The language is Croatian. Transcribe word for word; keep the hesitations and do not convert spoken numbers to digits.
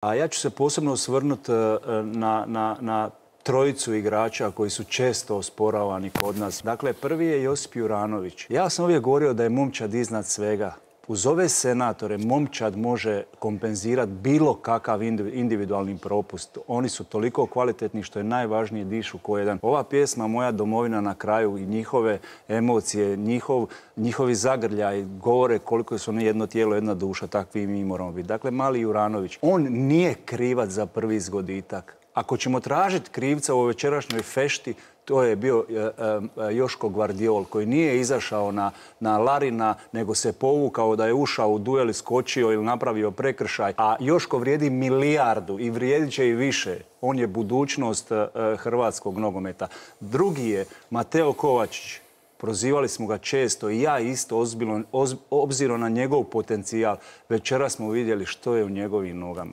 A ja ću se posebno osvrnuti na, na, na trojicu igrača koji su često osporavani kod nas. Dakle, prvi je Josip Juranović. Ja sam uvijek govorio da je momčad iznad svega. Uz ove senatore momčad može kompenzirati bilo kakav individualni propust. Oni su toliko kvalitetni što je najvažnije dišu ko jedan. Ova pjesma Moja domovina na kraju i njihove emocije, njihov, njihovi zagrljaj govore koliko su oni jedno tijelo, jedna duša, takvi mi moramo biti. Dakle, mali Juranović, on nije krivac za prvi zgoditak. Ako ćemo tražiti krivca u večerašnjoj fešti, to je bio e, e, Joško Gvardiol, koji nije izašao na, na Larina, nego se povukao da je ušao u duel, skočio ili napravio prekršaj. A Joško vrijedi milijardu i vrijedit će i više. On je budućnost e, hrvatskog nogometa. Drugi je Mateo Kovačić. Prozivali smo ga često i ja isto ozbiljno, oz, obzirom na njegov potencijal. Večeras smo vidjeli što je u njegovim nogama.